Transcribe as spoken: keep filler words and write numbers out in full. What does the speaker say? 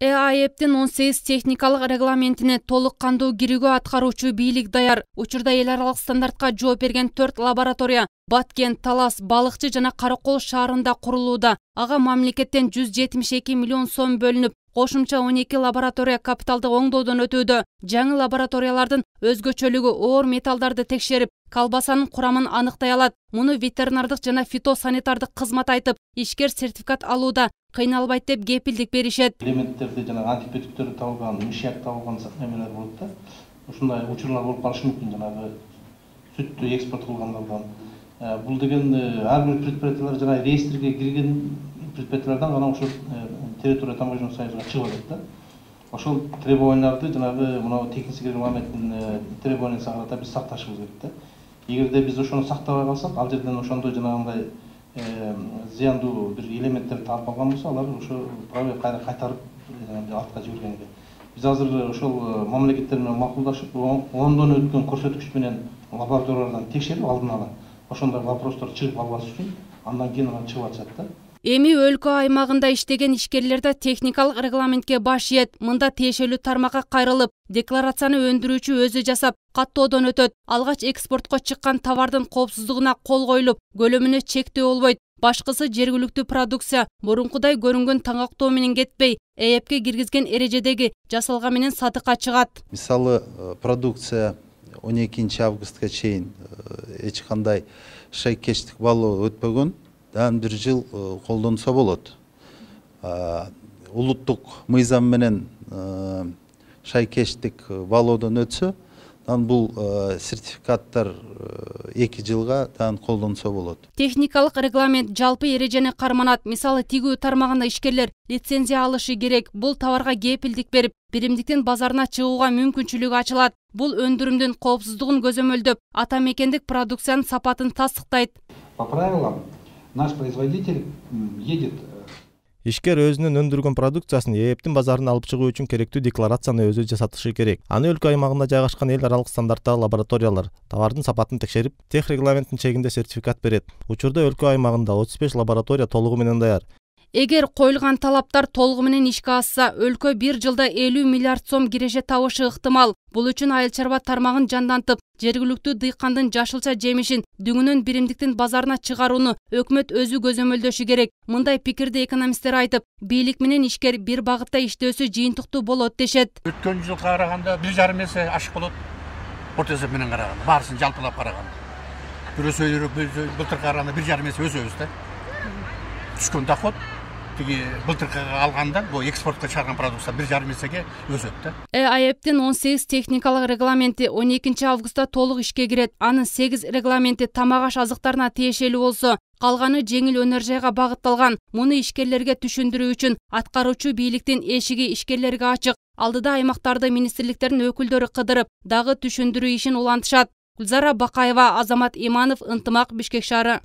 Э А Э Б'тин он сегиз техникалык регламентине толук кандуу кирүүгө аткаруучу бийлик даяр. Учурда эл аралык стандартка жооп берген төрт лаборатория Баткен, Талас, Балыкчы жана Каракол шаарында курулууда. Ага мамлекеттен жүз жетимиш эки миллион сом бөлүнүп, кошумча он эки лаборатория капиталдык оңдоодон өтүүдө. Жаңы лабораториялардын өзгөчөлүгү оор металлдарды текшерип, колбасанын курамын аныктай алат. Муну ветеринардык жана фитосанитардык кызмат айтып, ишкер сертификат алууда кыйналбайт деп кепилдик беришет. Элементтерди жана антибиотиктерди табылган, мышьяк табылган эмелер болот да. Ушундай учурлар болуп калышы мүмкүн, жанагы сүттү экспорт кылгандардан. Бул деген ар бир предприятиялар жана реестрге кирген предприятиялардан гана ошол территория таможенный союзга чыгып атат да. Ошол требованияларды жанагы мына технический регламенттин требованиясына карата биз сакташыбыз керек да. Эгерде биз ошону сактабай калсак, ал жерден ошондой жанагындай зыяндуу бир элементтерди таап алган болсо, алар ошо праве кайра кайтарып артка жибергенге. Биз азыр ошол мамлекеттер менен макулдашып, ондон өткөн көрсөткүч менен лабораториялардан текшерип алдын ала ошондой вопростор чыгып албас үчүн андан кийин анан чыгып атышат да. Эми өлкө аймагында иштеген ишкерлерде техникалык регламентке баш ийет. Мында тиешелүү тармакка кайрылып, декларацияны өндүрүүчү өзү жасап, каттоодон өтөт. Алгач экспортко чыккан товардын коопсуздугуна кол коюлуп, көлөмүнө чектөө болбойт. Башкысы жергиликтүү продукция мурункудай көрүнгөн таңактоо менен кетпей, Э Э Б'ге киргизген эрежедеги жасалган менен сатыкка чыгат. Мисалы, продукция он экинчи августка чейин эч кандай шайкештик балоо өтпөгөн, дан бир жыл колдонсо болот. Улуттук мыйзам менен шайкештик балоодон өтсө, дан бул сертификаттар эки жылга дан колдонсо болот. Техникалык регламент жалпы эрежени карманат. Мисалы, тигүү тармагында ишкерлер лицензия алышы керек. Бул товарга кепилдик берип, биримдиктин базарына чыгууга мүмкүнчүлүк ачылат. Бул өндүрүмдүн коопсуздугун көзөмөлдөп, ата мекендик продукциянын сапатын тастыктайт. По правилам, наш производитель едет. Ишкер өзүнүн өндүргөн продукциясын Э Э Б'тин базарына алып чыгуу үчүн керектүү декларацияны өзү жасатышы керек. Аны өлкө аймагында жайгашкан эл аралык стандарттагы лабораториялар товардын сапатын текшерип, тех регламенттин чегинде сертификат берет. Учурда өлкө аймагында отуз беш лаборатория толугу менен даяр. Эгер коюлган талаптар толугу менен ишке ашса, өлкө бир жылда элүү миллиард сом киреше табышы ыктымал. Бул үчүн айыл чарба тармагын жандантып, жергиликтүү дыйкандын жашылча жемишин дүңүнөн биримдиктин базарына чыгарууну өкмөт өзү көзөмөлдөшү керек. Мындай пикирди экономисттер айтып, бийлик менен ишкер бир багытта иштөөсү жыйынтыктуу болот дешет. Өткөн жылга караганда бир жарым эсе ашык болот. Орто эсеп менен караганда, баарысын жалпылап караганда. Бирөөсү былтыркы караганда бир жарым эсе өсөбүз да. Түшкөн доход былтыркыга алганда бул экспортко чыгарган продукция бир жарым эсеге өсөт да. Э А Э Б'тин он сегиз техникалык регламенти он экинчи августта толук ишке кирет. Анын сегиз регламенти тамак аш азыктарына тиешелүү болсо, калганы жеңил өнөр жайга багытталган. Муну ишкерлерге түшүндүрүү үчүн аткаруучу бийликтин эшиги ишкерлерге ачык. Алдыда аймактарды министрликтердин өкүлдөрү кыдырып, дагы түшүндүрүү ишин улантышат. Гүлзара Бакаева, Азамат Иманов, Ынтымак, Бишкек шаары.